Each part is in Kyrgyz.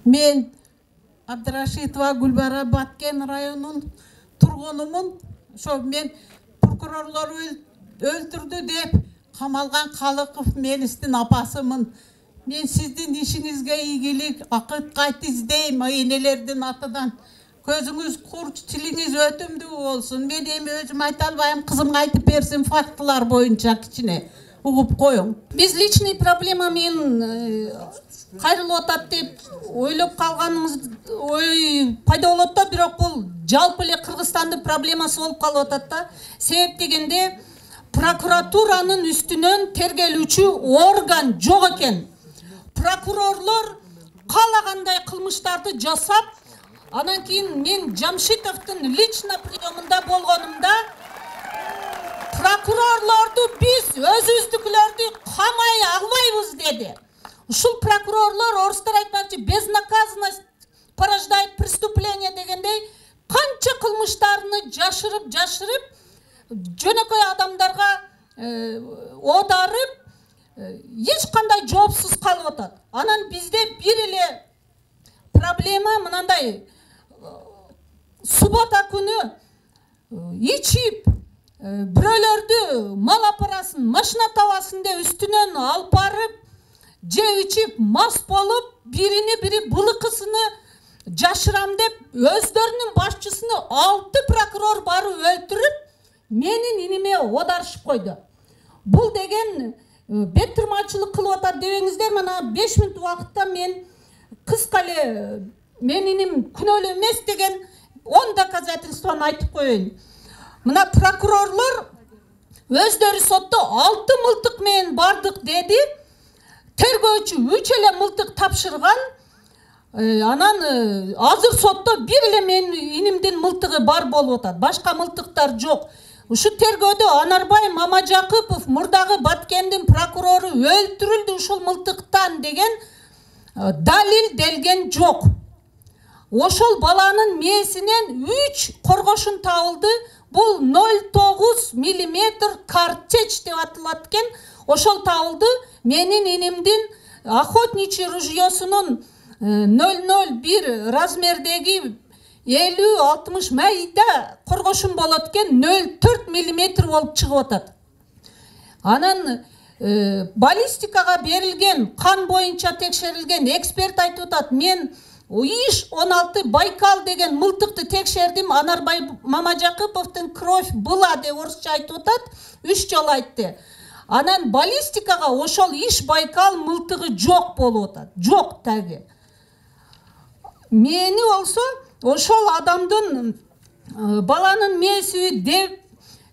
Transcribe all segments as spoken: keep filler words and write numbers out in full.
Мен Абдрашитова Гүлбара Баткен районунун тургунумун. Ошо мен прокурорлор өлтүрдү деп камалган Калыков Мелистин апасымын. Мен сиздин ишиңизге ийгилик, акыт кайт издейм энелердин атынан. Көзүңүз курч, тилиңиз өтүмдүү болсун. Мен эми өзүм айта албайм, кызымга айтып берсин фактылар боюнча кичине угуп коюң. Биз личный проблема менен кайрылып атат деп ойлоп калганыңыз ой пайда болот да, бирок бул жалпы эле Кыргызстандын проблемасы болуп калып атат да. Себеп дегенде прокуратуранын үстүнөн тергелүүчү орган жок экен. Прокурорлор каалагандай кылмыштарды жасап, анан кийин мен Жамшитовдун лично приемунда болгонумда прокурорлорду биз өзүбүздүкүлөрдү камай албайбыз деди. Ушул прокурорлор, орустар айтмакчы, безнаказанность порождает преступление дегендей, канча кылмыштарны жашырып, жашырып, жөнөкөй адамдарга оодарып, эч кандай жоопсуз калып атат. Анан бизде бир эле проблема мынандай: суббота күнү ичип, бирөөлөрдү мал апарасын, машина табасын деп үстүнөн алып барып, жеп ичип мас болуп, биrini бири былыкысыны жашырам деп өздөрүнүн башчысыны алты прокурор барып өлтүрүп, менин иниме оодарышып койду. Бул деген бет тырмачылык кылып атат дебеңиздер. Мына беш мүнөт убакытта мен кыска эле менин иним күнөөлүү эмес деген он доказательствону айтып коеюн. Мына прокурорлор өздөрү сотто алты мылтык менен бардык деди. Тергөөчү үч эле мылтык тапшырган. Анан азыр сотто бир эле менин инимдин мылтыгы бар болуп атат. Башка мылтыктар жок. Ушу тергөөдө Анарбай Мамажакыпов, мурдагы Баткендин прокурору өлтүрүлдү ушул мылтыктан деген далил делген жок. Ошол баланын мээсинен үч коргошун табылды. Бул ноль тогуз миллиметр картечь деп аталат экен. Ошол табылды. Менин инимдин охотничий ружьёсунун ноль ноль бир размердеги элүү алтымыш майда коргошун болот экен, ноль төрт миллиметр болуп чыгып атат. Анан баллистикага берилген, кан боюнча текшерилген эксперт айтып атат: мен иш он алты Байкал деген мылтыкты текшердим, Анарбай Мамажакыповдун кровь была деп орусча айтып атат, үч жолу айтты. Анан баллистикага ошол иш Байкал мылтыгы жок болуп атат. Жок таги. Мени болсо ошол адамдын баланын мээси деп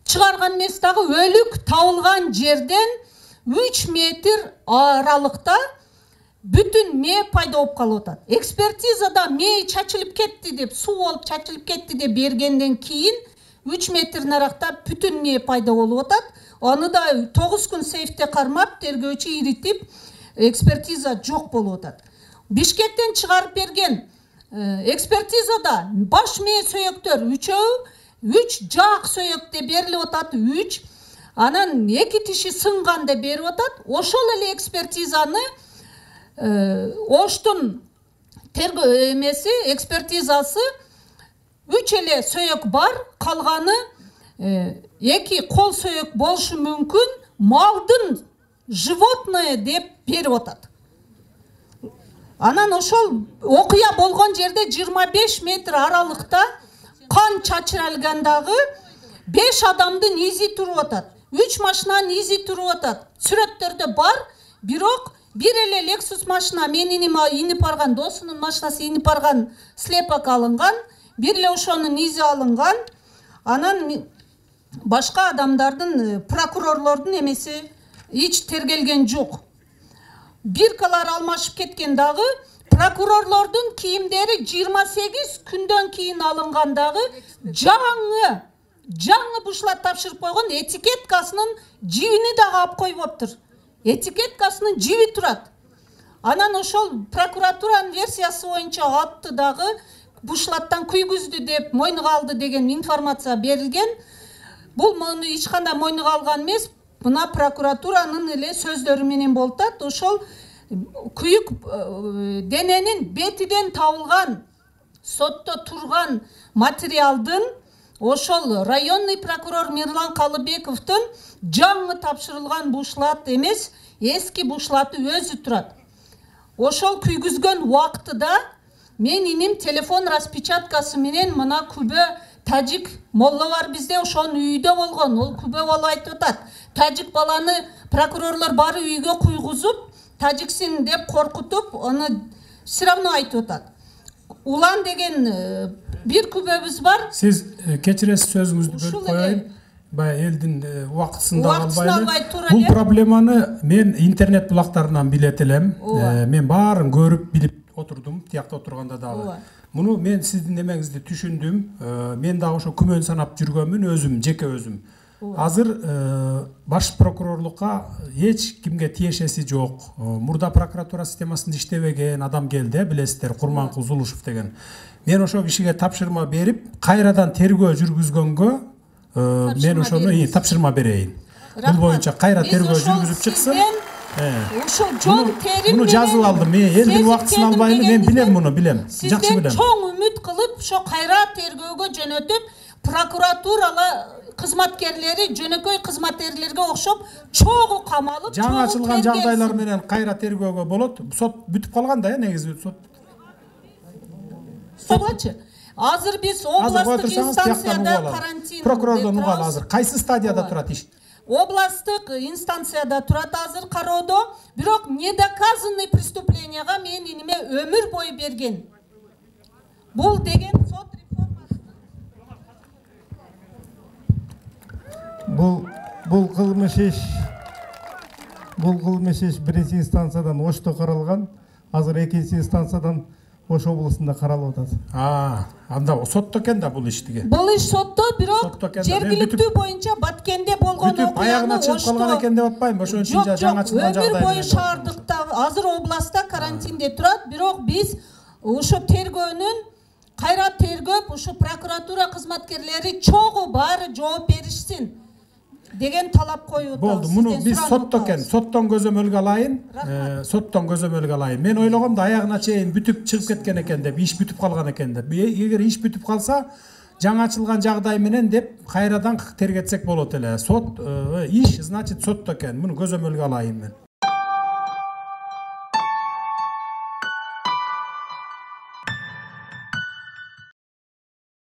чыгарган эмес, дагы өлүк табылган жерден үч метр аралыкта бүтүн мээ пайда болуп калып атат. Экспертизада мээ чачылып кетти деп, суу болуп чачылып кетти деп бергенден кийин үч метр наракта бүтүн мээ пайда болуп атат. Аны да тогуз күн сейфте кармап, тергөөчү иритип, экспертиза жок болуп атат. Бишкектен чыгарып берген экспертизада баш мээ сөйөктөр үчөө, үч жаак сөйөк деп берилип атат, үч. Анан эки тиши сынган деп берип атат. Ошол эле экспертизаны Оштун тергөө эмеси, экспертизасы үч эле сөйөк бар, калганы эки кол сөйөк болушу мүмкүн, малдын животное деп берип атат. Анан ошол окуя болгон жерде жыйырма беш метр аралыкта кан чачырылгандагы беш адамдын изи туруп атат. үч машинанын изи туруп атат. Сүрөттөрдө бар, бирок бир эле Lexus машина, менин иним инип барган, досунун машинасы инип барган слепок алынган, бир эле ошонун изи алынган. Анан башка адамдардын, прокурорлордун эмеси эч тергелген жок. Биркалар алмашып кеткен дагы, прокурорлордун кийимдери жыйырма сегиз күндөн кийин алынган дагы, жаңы, жаңы бушлат тапшырып койгон, этикеткасынын жибини дагы алып койбоптур. Этикеткасынын жиби турат. Анан ошол прокуратуранын версиясы боюнча атты дагы бушлаттан күйгүздү деп мойнуга алды деген информация берилген. Бул муну эч кандай мойнуга алган эмес, мына прокуратуранын эле сөздөрү менен болуп атат. Ошол күйүк дененин бетиден табылган сотто турган материалдын ошол районный прокурор Мирлан Калыбековдун жаңы тапшырылган бушлат эмес, эски бушлаты өзү турат. Ошол күйгүзгөн убактыда мен иним телефон распечаткасы менен мына күбө тажик молла бар бизде, ошонун үйдө болгон. Ол күбө бала айтып атат. Тажик баланы прокурорлор бары үйгө куйгузуп, тажиксин деп коркутуп, аны все равно айтып атат. Улан деген бир күбөбүз бар. Сиз кечиресиз, сөзүңүздү бөлүп коеюн. Баягы элдин убактысын да албайлы. Бул проблеманы мен интернет булактарынан билет элем. Мен баарын көрүп билип отурдум, тиякта отурганда дагы. Муну мен сиздин эмеңизди түшүндүм. Мен дагы ошо күмөн санап жүргөнмүн, өзүм, жеке өзүм. Азыр баш прокурорлукка эч кимге тиешеси жок. Мурда прокуратура системасында иштебеген адам келди, билесиздер, Курманкул Зулушев деген. Мен ошо кишиге тапшырма берип, кайрадан тергөө жүргүзгөнгө мен ошону тапшырма берейин. Бул боюнча кайра тергөө жүргүзүп чыксын. Ушул жол терим муну жазып алдым. Мен элдин убактысын албайм, мен билем муну, билем. Жакшы билем. Сизден чоң үмүт кылып, ошо кайра тергөөгө жөнөтүп, прокуратурала кызматкерлери жөнөкөй кызматкерлерге окшоп чогуу камалып, жаңы ачылган жагдайлар менен кайра тергөөгө болот. Сот бүтүп калган да, негизи сот. Собачы. Азыр биз областтык инстанцияда карантин. Прокурордон угалы азыр кайсы стадияда турат иш? Областтык инстанцияда турат азыр кароодо, бирок недоказанный преступленияга мен иниме өмүр бою берген. Бул деген сот реформасы. Бул бул кылмыш иш бул кылмыш иш биринчи инстанциядан Ошто каралган, азыр экинчи инстанциядан Ош облусунда каралып атат. А, анда сотто экен да бул иштиги. Бул иш сотто, бирок жергиликтүү боюнча Баткенде болгон окуяны чыгып калган экен деп атпайм, ошон үчүн жаңы ачылган жагдай. Өмүр бою шаардыкта азыр областта карантинде турат, бирок биз ошо тергөөнүн кайра тергөп, ошо прокуратура кызматкерлери чогуу баары жооп беришсин деген талап коюп атабыз. Болду, муну биз сотто экен, соттон көзөмөлгө алайын, соттон көзөмөлгө алайын. Мен ойлогом да аягына чейин бүтүп чыгып кеткен экен деп, иш бүтүп калган экен деп. Эгер иш бүтүп калса, жаңы ачылган жагдай менен деп кайрадан тергетсек болот эле. Сот иш, значит, сотто экен. Муну көзөмөлгө алайын мен.